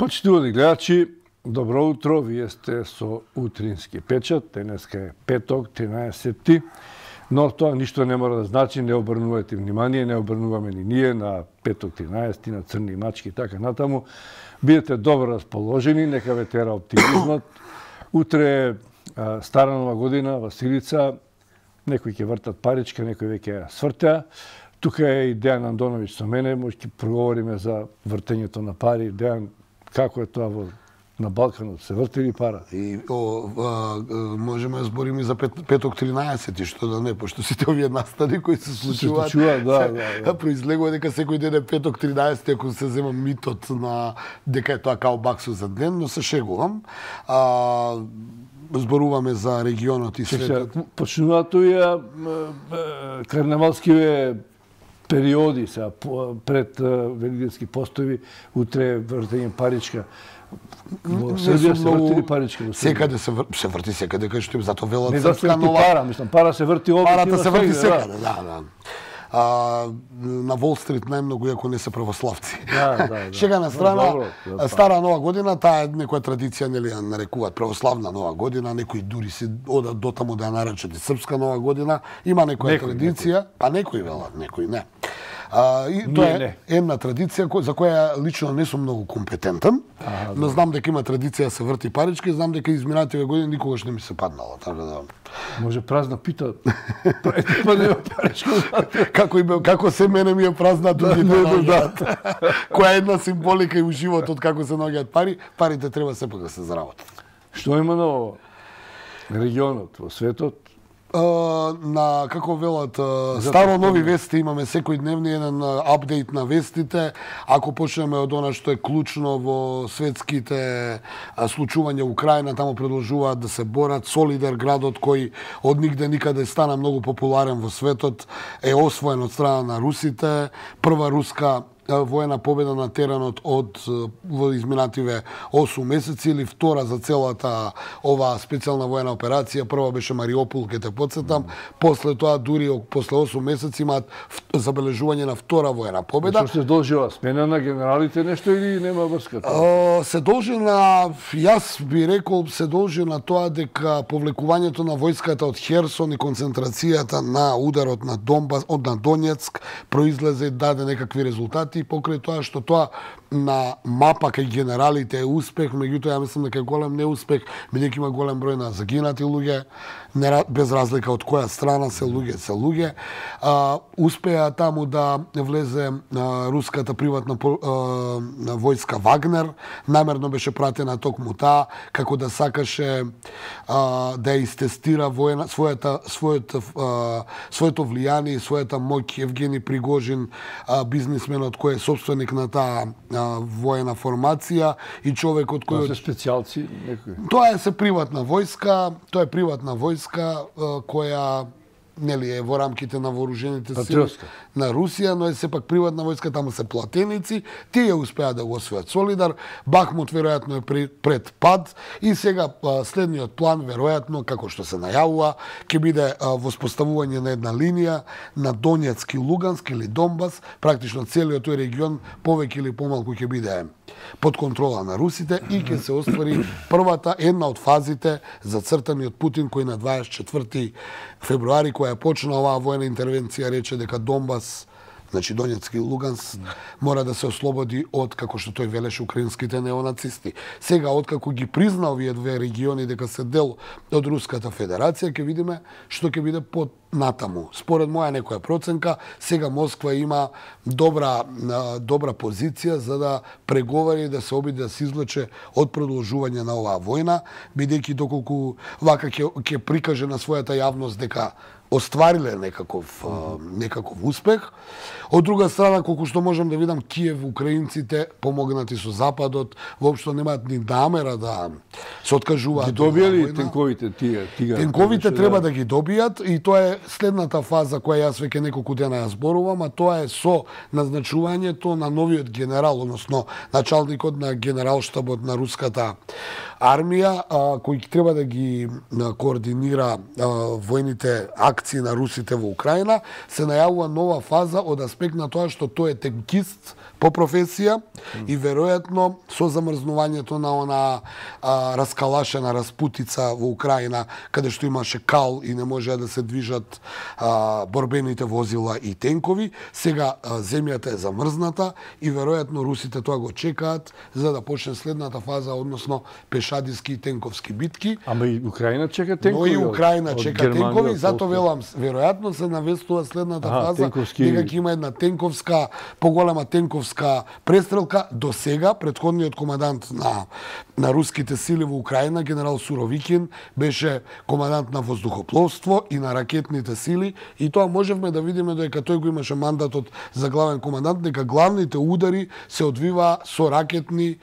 Почитувани гледачи, добро утро, вие сте со утрински печат, денеска е петок, 13-ти, но тоа ништо не мора да значи, не обрнувате внимание, не обрнуваме ни ние на петок 13-ти, на црни мачки и така натаму. Бидете добро расположени, нека ве тера оптимизмот. Утре е Стара нова година, Василица, некои ќе вртат паричка, некои веќе ја свртеа. Тука е и Дејан Андоновиќ со мене, може ќе проговориме за вртењето на пари. Дејан, како е тоа на Балканот, се врти ли пара? Можеме да збориме за петок 13, што да не, пошто сите овие настани кои се случуваат, произлегува дека секој ден е петок 13, ако се зема митот на дека е тоа као баксо за ден, но се шегувам. Зборуваме за регионот и светот. Почнуваат тој карнавалскиве периоди сега пред великденски постови, утре вртење паричка. Во Србија се врти ли паричка? Секаде се врти секаде, кај што зато велат не српска нова. Пара, мислам, пара се врти овде. Парата се врти секаде, да. На Wall Street најмногу, иако не се православци. Шега на страна, Стара нова година, таа е некоја традиција, нели ја нарекуваат православна нова година, некои дури се одат до таму да ја наречат и српска нова година. Има некоја традиција, па некои велат, некои не. И тоа е една традиција за која лично не сум многу компетентен, но знам дека има традиција да се врти паричка и знам дека изминативе години никогаш не ми се паднало, така да. Може празна пита. Паричка. Како се мене ми е празна другите. Која е една символика и у животот како се наоѓаат пари, парите треба сепак да се заработат. Што има на регионот, во светот? На, како велат, старо нови вести имаме секој дневни еден апдейт на вестите. Ако почнеме од она што е клучно во светските случувања Украина, таму продолжуваат да се борат. Солидар, градот кој од нигде никаде стана многу популарен во светот, е освоен од страна на русите. Прва руска воена победа на теренот од во изминативе 8 месеци или втора за целата ова специјална воена операција. Прва беше Мариопол, ќе те потсетам. После тоа дури после 8 месеци имаат забележување на втора воена победа. Што се должи ова смена на генералите нешто или нема врска? Се должи на, јас би рекол, се должи на тоа дека повлекувањето на војската од Херсон и концентрацијата на ударот на Донбас, на Донецк произлезе и даде некакви резултати. Покрај тоа што тоа на мапа кај генералите е успех, меѓутоа ја мислам дека е голем неуспех, бидејќи има голем број на загинати луѓе, без разлика од која страна се луѓе. Успеа таму да влезе руската приватна војска Вагнер, намерно беше пратена токму таа, како да сакаше да истестира своето влијание и својата моќ. Евгени Пригожин, бизнисменот кој е собственик на таа воена формација и човекот кој... Тоа се специјалци некои? Тоа е се приватна војска, која нели е во рамките на вооружените сили на Русија, но е сепак приватна војска, таму се платеници, тие успеа да го освојат Солидар, Бахмут веројатно е пред пад и сега следниот план веројатно, како што се најавува, ќе биде воспоставување на една линија на Донецк и Луганск или Донбас, практично целиот тој регион повеќе или помалку ќе биде под контрола на русите и ќе се оствари првата една од фазите зацртани од Путин, кој на 24 февруари, која почна оваа воена интервенција, рече дека Донбас, значи Донецк и Луганск, мора да се ослободи од, како што тој велеше, украинските неонацисти. Сега, откако ги призна овие две региони дека се дел од Руската Федерација, ќе видиме што ќе биде под натаму. Според моја некоја проценка, сега Москва има добра позиција за да преговари и да се обиде да се извлече од продолжување на оваа војна, бидејќи доколку вака ќе прикаже на својата јавност дека оствариле некаков успех. Од друга страна, колку што можам да видам, Киев, украинците, помогнати со Западот, воопшто немаат ни намера да се откажуваат. Ги добија ли тенковите тие? Тенковите треба да ги добијат и тоа е следната фаза која јас веќе неколку дена ја зборувам, а тоа е со назначувањето на новиот генерал, односно началникот на генералштабот на руската армија, кој треба да ги координира војните акции на русите во Украина, се најавува нова фаза од аспект на тоа што тој е тенкист по професија и веројатно со замрзнувањето на она раскалашена распутица во Украина, каде што имаше кал и не можеа да се движат борбените возила и тенкови, сега земјата е замрзната и веројатно русите тоа го чекаат за да почне следната фаза, односно пешадиски и тенковски битки. Ама и Украина чека тенкови. Но и Украина чека тенкови, затоа велам, веројатно се навестува следната фаза, дека ќе има една тенковска, поголема тенковска престрелка. До сега претходниот командант на руските сили во Украина, генерал Суровикин, беше командант на воздухопловство и на ракетните сили и тоа можевме да видиме дека тој го имаше мандатот за главен командант, дека главните удари се одвива со ракети,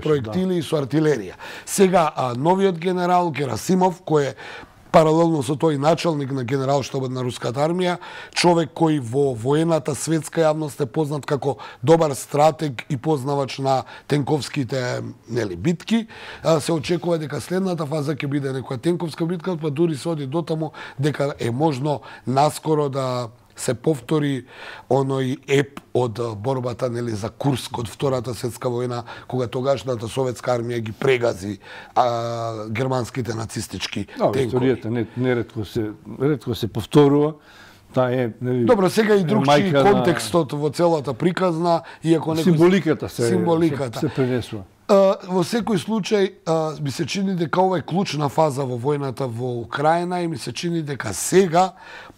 проектили и со артилерија. Сега новиот генерал Герасимов, кој е паралелно со тој началник на генералштабот на руската армија, човек кој во воената светска јавност е познат како добар стратег и познавач на тенковските битки, се очекува дека следната фаза ќе биде некоја тенковска битка, па дури се оди дотаму дека е можно наскоро да се повтори оној еп од борбата за Курск од Втората светска војна, кога тогашната советска армија ги прегази германските нацистички тенкови. Историјата ретко се повторува. Добро, сега и другчи контекстот во целата приказна, иако символиката се пренесува. Во секој случај ми се чини дека ова е клучна фаза во војната во Украина и ми се чини дека сега,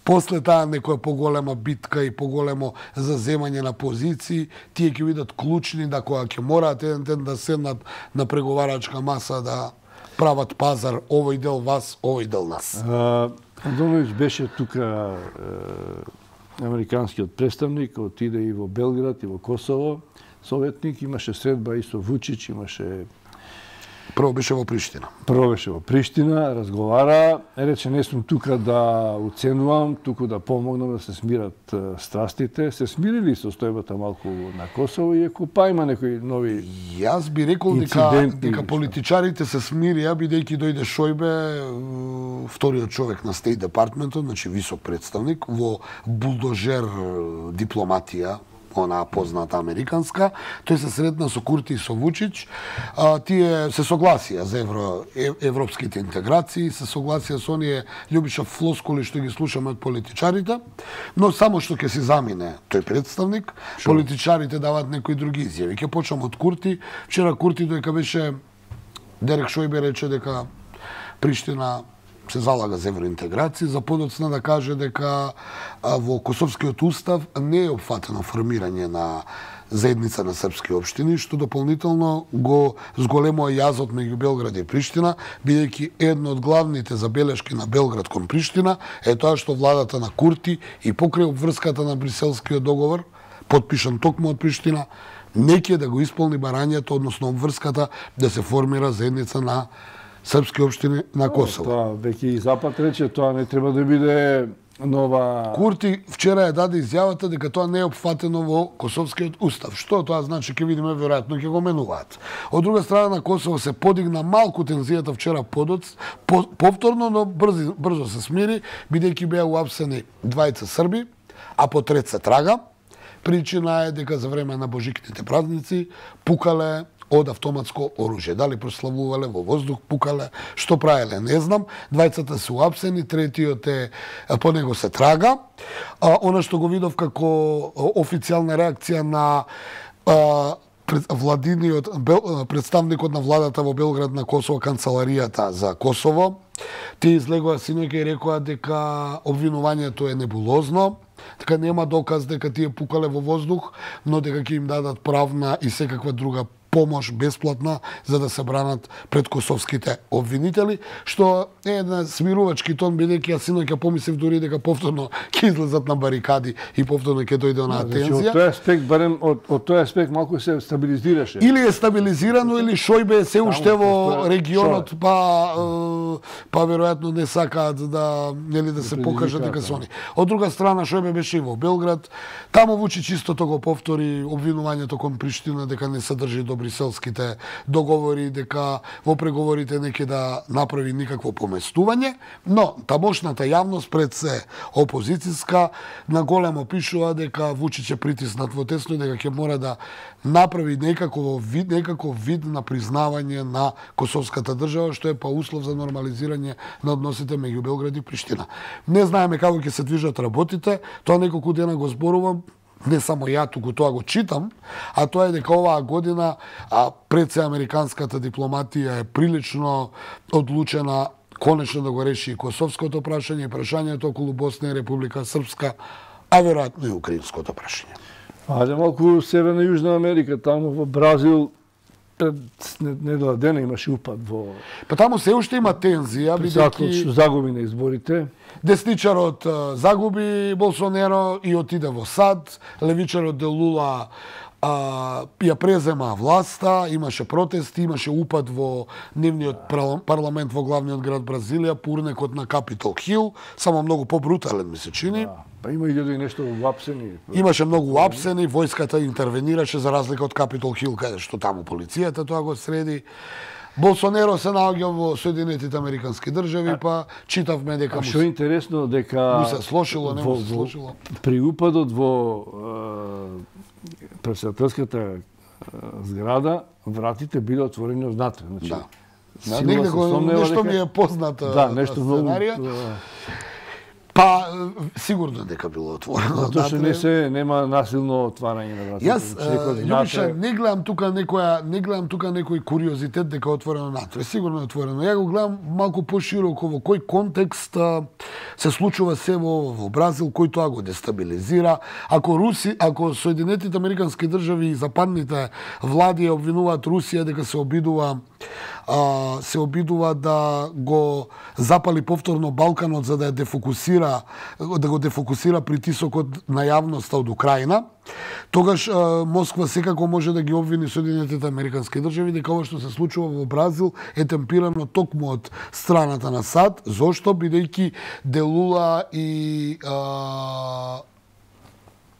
после таа некоја поголема битка и поголемо заземање на позиции, тие ќе бидат клучни да кога ќе мораат еден ден да седнат на преговарачка маса да прават пазар, овој дел вас, овој дел нас. Андоновиќ беше тука американскиот представник, отиде и во Белград и во Косово, советник, имаше средба и со Вучич, имаше... Прво беше во Приштина, разговара, рече не сум тука да оценувам, туку да помогнам да се смират страстите. Се смирили состојбата малку на Косово, иако па има некои нови инциденти. Јас би рекол дека политичарите се смирија, бидејќи дојде Шојбе, вториот човек на Стейт департментот, значи висок представник, во булдожер дипломатија, она позната американска, тој се сретна со Курти и со Вучич. Тие се согласија за европските интеграции, се согласија со оние љубичав флоскули што ги слушаме од политичарите, но само што ќе се замине тој представник, политичарите дават некои други изјави. Ќе почнам од Курти. Вчера Курти дека беше, Дерек Шојбе рече дека Приштина се залага за евроинтеграција, за подоцна да каже дека во Косовскиот устав не е опфатено формирање на заедница на српски општини, што дополнително го зголемува јазот меѓу Белград и Приштина, бидејќи едно од главните забелешки на Белград кон Приштина е тоа што владата на Курти и покрај обврската на Бриселскиот договор, потпишан токму од Приштина, не ќе да го исполни барањето, односно обврската да се формира заедница на српски општини на Косово. Тоа веќе и Запад рече, тоа не треба да биде нова... Курти вчера даде изјавата дека тоа не е опфатено во Косовскиот устав. Што тоа значи, ќе видиме, веројатно ќе го менуваат. Од друга страна на Косово се подигна малку тензијата вчера повторно, но брзо се смири, бидејќи беа уапсени двајца срби, а по трет се трага. Причина е дека за време на божикните празници пукале од автоматско оружје. Дали прославувале во воздух, пукале, што правеле, не знам. Двајцата се уапсени, третиот е, по него се трага. Она што го видов како официјална реакција на представникот на владата во Белград на Косово, канцеларијата за Косово, тие излегоа синоќа и рекоа дека обвинувањето е небулозно, дека нема доказ дека тие пукале во воздух, но дека ќе им дадат правна и секаква друга помош бесплатна за да се бранат пред косовските обвинители, што е една смирувачки тон, бидејќи јас синоќа помислив дури дека повторно ќе излезат на барикади и повторно ќе дојде онаа тензија. Од тој аспект, барем од тој аспект малку се стабилизираше. Или е стабилизирано, или Шојбе се уште во регионот, па па веројатно не сакаат да се покажат дека се они. Од друга страна, Шојбе беше и во Белград, таму Вучич истото го повтори обвинувањето кон Приштина дека не се држи до бриселските договори, дека во преговорите не ќе да направи никакво поместување, но тамошната јавност пред се опозицијска на големо пишува дека Вучич е притиснат во тесно и дека ќе мора да направи некако вид на признавање на косовската држава, што е па услов за нормализирање на односите меѓу Белград и Приштина. Не знаеме како ќе се движат работите, тоа неколку дена го зборувам, не само ја туку тоа го читам, а тоа е дека оваа година пред се американската дипломатија е прилично одлучена конечно да го реши и косовското прашање, и прашањето околу Босна и Република Српска, а веројатно и украинското прашање. Ајде малку Северна и Јужна Америка, таму во Бразил недела дена имаше упад во... Па таму се уште има тензија, бидејќи што загуби на изборите. Десничарот загуби Болсонеро и отиде во САД, левичарот де Лула ја презема власта, имаше протести, имаше упад во нивниот парламент во главниот град Бразилија, пурнекот на Капитол Хил, само многу побрутален ми се чини. Па има и нешто уапсени. Имаше многу уапсени, војската интервенираше за разлика од Капитол Хил, каде што таму полицијата тоа го среди. Болсонеро се наоѓа во Соединетите Американски држави, па читавме дека што е интересно дека му се слошило, не му се слошило. При упадот во председателската зграда вратите биле отворени однатре, значи. Да. Нешто ми е позната сценарија. Па сигурно дека било отворено. Затоа што нема насилно отварање на вратите. Јас Љубиша не гледам тука некој куриозитет дека е отворено натре. Сигурно е отворено. Ја го гледам малку пошироко во кој контекст се случува се во Бразил, кој тоа го дестабилизира. Ако Соединетите Американски држави и западните влади обвинуваат Русија дека се обидува да го запали повторно Балканот за да го дефокусира притисокот на јавноста од Украина, тогаш Москва секако може да ги обвини Соединетите Американски држави дека ова што се случува во Бразил е темпирано токму од страната на САД. Зошто? Бидејќи де Лула и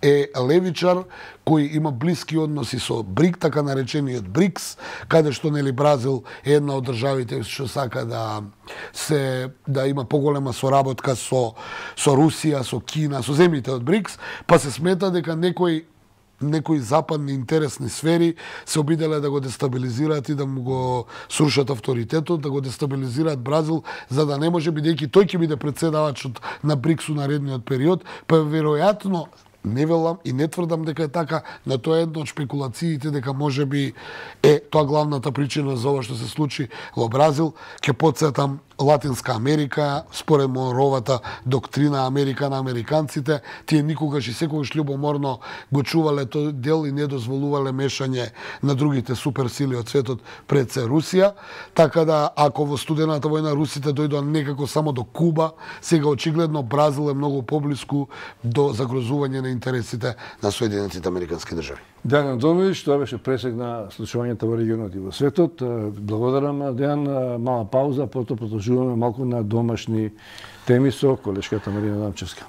е левичар кој има блиски односи со БРИК, така наречениот БРИКС, каде што Бразил е една од државите што сака да има поголема соработка со Русија, со Кина, со земјите од БРИКС, па се смета дека некои западни интересни сфери се обиделе да го дестабилизираат и да му го срушат авторитетот, да го дестабилизираат Бразил, за да не може, бидејќи тој ќе биде претседавачот на БРИКС у наредниот период, па веројатно не велам и не тврдам дека е така, но тоа е една од шпекулациите дека можеби е тоа главната причина за ова што се случи во Бразил. Ќе потсетам Латинска Америка, според Монровата доктрина Америка на американците, тие никогаш и секогаш љубоморно го чувале тој дел и не дозволувале мешање на другите суперсили од светот, пред се Русија. Така да, ако во студената војна русите дојдоа некако само до Куба, сега очигледно Бразил е многу поблиску до загрозување на интересите на Соединетите Американски држави. Дејан Андоновиќ, тоа беше пресек на случувањата во регионот и во светот. Благодарам, Дејан. Мала пауза, потоа продолжуваме малку на домашни теми со колешката Марина Дамчевска.